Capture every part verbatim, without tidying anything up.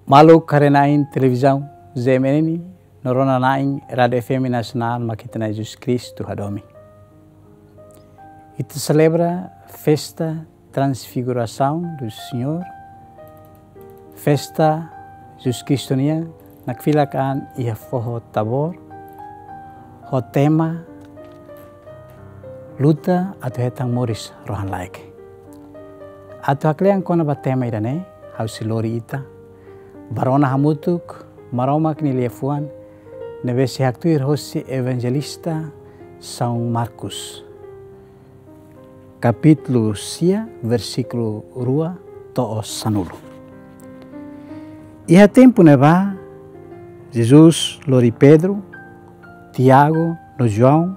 Maluk haree-na'in televizaun Z M N no rona-na'in Rádiu F M Nasionál Mak Ita-Nia Jesus Kristu Hadomi. Ita selebra festa Transfiguração do Senhor, festa Jesus Kristu nian, nakfilak an iha foho Tabor, ho tema luta atu hetan moris rohan-laek. Atu haklean kona-ba tema ida-ne'e, ha'u sei lori ita bá rona hamutuk Maromak nia liafuan ne'ebé sei haktuir hosi Evanjelista São Marcos, kapítulu sia, versíkulu rua to'o sanulu. Iha tempu ne'ebá, Jesus lori Pedro, Tiago no João,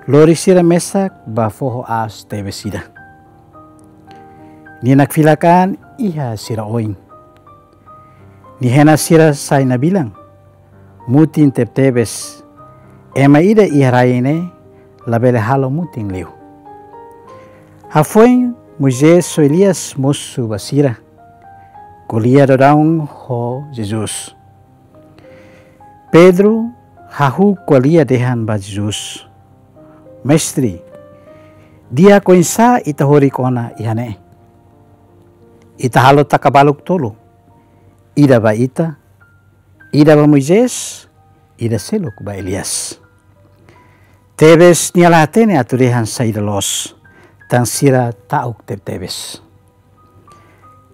lori sira mesak ba foho aas tebes ida. Nia nakfilak an iha sira oin. Nia hena sira sai nabilan, mutin tebetebes, ema ida iha rai ne'e labele halo mutin liu. Hafoin Moisés ho Elias mosu ba sira, ko'alia daudaun ho Jesus. Pedro hahú ko'alia dehan ba Jesus: Mestre, di'ak oinsá ita horik ona iha ne'e? Ita halo taka-baluk tolu, ida ba ita, ida ba Moisés, ida seluk ba Elias. Tebes nia la hatene atu dehan saida loos, tan sira ta'uk tebetebes.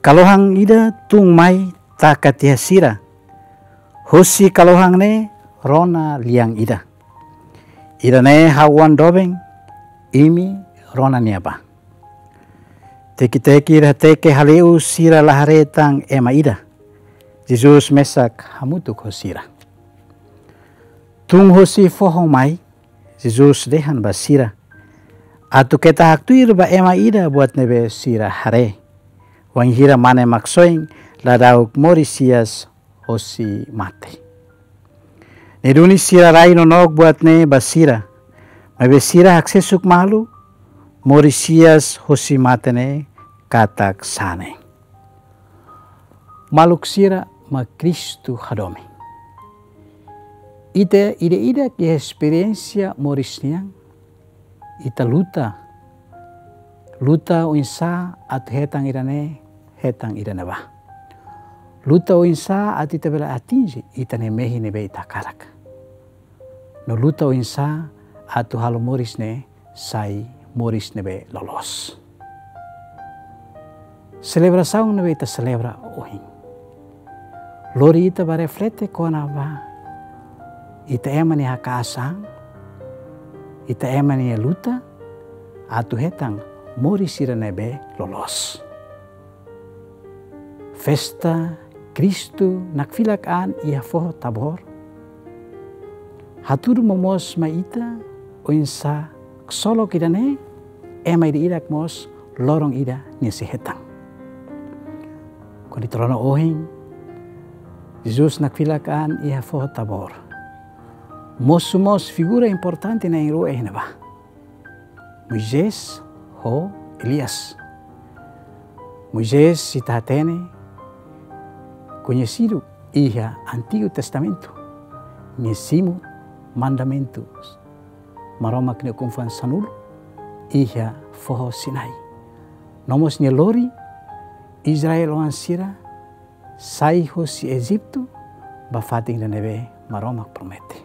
Kalohan ida tun mai taka tiha sira. Hosi kalohan ne'e rona lian ida. Ida-ne'e ha'u-oan doben, imi rona nia bá. Teki-teki ida hateke hale'u sira la haree tan ema ida. Jesus mesak hamutuk ho sira. Tun hosi foho mai, Jesus dehan ba sira: Atu keta haktuir ba ema ida buat ne'ebé sira haree. Wainhira Mane Maksoin ladauk moris hi'as hosi mate. Ne'e duni sira rai nonook buat ne'e ba sira. Maibé sira haksesuk malu, moris hi'as hosi mate ne'e katak sá ne'e. Maluk sira mak Kristu hadomi. Ita ida-idak iha esperiénsia moris nian, ita luta. Luta oinsá atu hetan ida-ne'e, hetan ida-ne'ebá. Luta oinsá atu ita bele atinje ita-nia mehi ne'ebé ita hakarak. No luta oinsá atu halo moris ne'e sai moris ne'ebé loloos. Selebrasaun ne'ebé ita selebra ohin, lori ita bá reflete kona-ba ita ema nia haka'as an, ita ema nia luta atu hetan moris sira ne'ebé loloos. Festa Kristu nakfilak an iha foho Tabor hatudu momoos mai ita oinsá ksolok ida-ne'e, ema ida-idak mós loron ida nia sei hetan. Kuandu ita rona ohin, Jesus nakfilak an iha foho Tabor, mosu mós figura importante na'in-rua iha ne'ebá: Moisés ho Elias. Moisés, se ita hatene, koñesidu iha Antigu Testamentu, nia simu mandamentu Maromak nia ukun-fuan sanulu iha foho Sinai. No mós nia lori Israel oan sira sai hosi Ejitu ba fatin ida ne'ebé Maromak promete.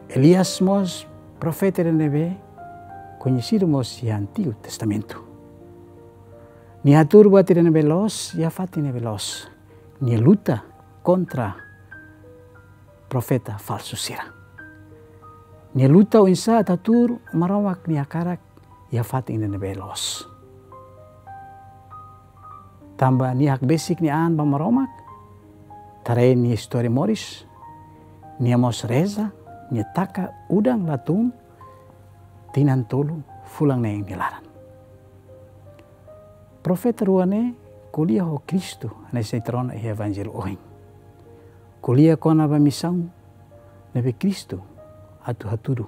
Elias mós profeta ida ne'ebé koñesidu mós iha Antigu Testamentu. Nia hatuur buat ida ne'ebé loos iha fatin ne'ebé loos. Nia luta kontra profeta falsu sira. Nia luta oinsá atu hatuur Maromak nia hakarak iha fatin ida ne'ebé loos. Tanba nia hakbesik nia an ba Maromak, ita haree nia istória moris, nia mós reza, nia taka udan la tun tinan tolu fulan neen nia laran. Profeta rua ne'e ko'alia ho Kristu, hanesan ita rona iha Evanjellu ohin. Ko'alia kona-ba misaun ne'ebé Kristu atu hatudu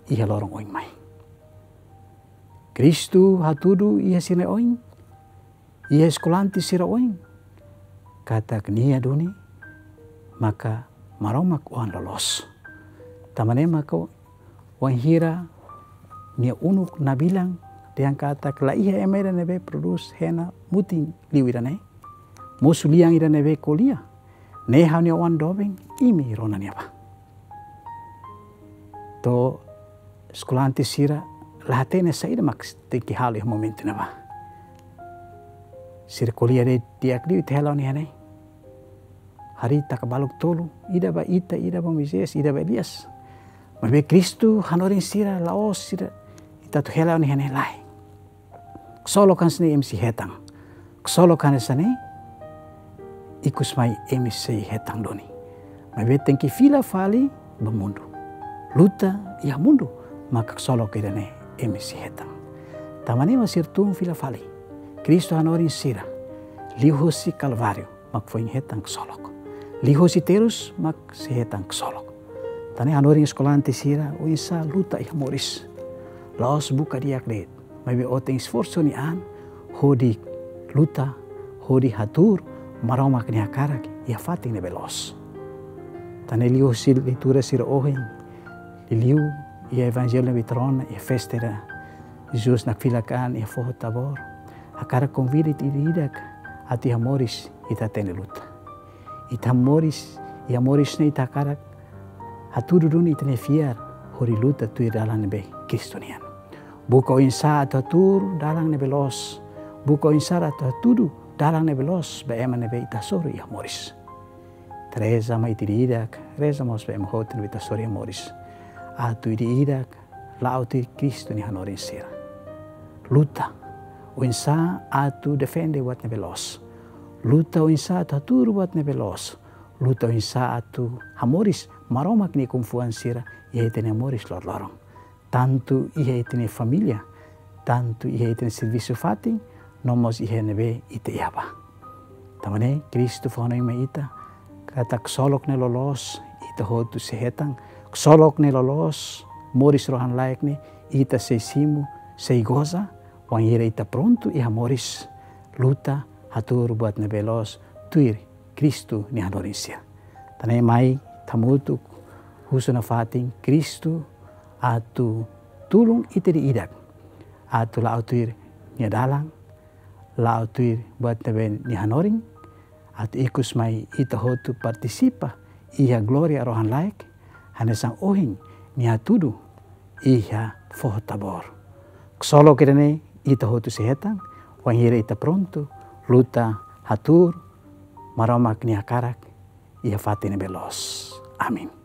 iha loron oin mai. Kristu hatudu iha sira-nia oin, iha eskolante sira oin, katak nia duni maka Maromak oan loloos. Tanba ne'e maka wainhira nia unuk nabilan dehan katak la iha ema ida ne'ebé prodús hena mutin liu ida-ne'e, mosu lian ida ne'ebé ko'alia: Ne'e ha'u-nia oan doben, imi rona nia bá. To'o eskolante sira la hatene saida mak tenke halo iha momentu ne'ebá. Sira ko'alia de'it di'ak liu: Ita hela ona iha ne'e. Harii taka baluk tolu, ida ba ita, ida ba Moisés, ida ba Elias. Maibé Kristu hanorin sira la'ós sira, ita atu hela ona iha ne'e, lae. Ksolok hanesan ne'e imi sei hetan. Ksolok hanesan ne'e, ikus mai imi sei hetan duni. Maibé tenke fila fali ba mundu. Luta iha mundu, maka ksolok ida-ne'e imi sei hetan. Tanba ne'e mak sira tun fila fali. Kristu hanorin sira liuhosi Kalváriu mak foin hetan ksolok. Liuhosi terus mak sei hetan ksolok. Tan ne'e hanorin eskolante sira oinsá luta iha moris. La'ós buka di'ak de'it, maibé ó-nia esforsu nian hodi luta, hodi hatuur Maromak nia hakarak iha fatin ne'ebé loos. Tan ne'e liuhosi leitura sira ohin, liuliu iha Evanjellu ne'ebé ita rona iha festa ida Jesus nakfilak an iha foho Tabor, hakarak konvida ita ida-idak atu iha moris ita hatene luta. Ita moris, iha moris ne'e ita hakarak hatudu duni ita-nia fiar hodi luta tuir dalan ne'ebé Kristu nian. Buka oinsá atu hatuur dalan ne'ebé loos. Buka oinsá atu hatudu dalan ne'ebé loos ba ema ne'ebé ita hasoru iha moris. Ita reza mai ita ida-idak, reza mós ba ema hotu ne'ebé ita hasoru iha moris. Atu ita ida-idak la'o tuir Kristu nia hanorin sira. Luta oinsá atu defende buat ne'ebé loos. Luta oinsá atu hatuur buat ne'ebé loos. Luta oinsá atu hamoris Maromak nia ko'alia sira iha ita-nia moris loroloron. Tantu iha ita-nia família, tantu iha ita-nia servisu fatin, no mós iha ne'ebé ita iha bá. Tanba ne'e Kristu fó-hanoin mai ita katak ksolok ne'e loloos ita hotu sei hetan. Ksolok ne'e loloos, moris rohan-laek ne'e ita sei simu, sei goza, wainhira ita prontu iha moris luta hatuur buat ne'ebé loos tuir Kristu nia hanorin sira. Tan ne'e mai ita hamutuk husu nafatin Kristu atu tulun ita ida-idak atu la'o tuir nia dalan, la'o tuir buat ne'ebé nia hanorin, atu ikus mai ita hotu partisipa iha glória rohan-laek hanesan ohin nia hatudu iha foho Tabor. Ksolok ida-ne'e ita hotu sei hetan, wainhira ita prontu luta hatuur Maromak nia hakarak iha fatin ne'ebé loos. Amen.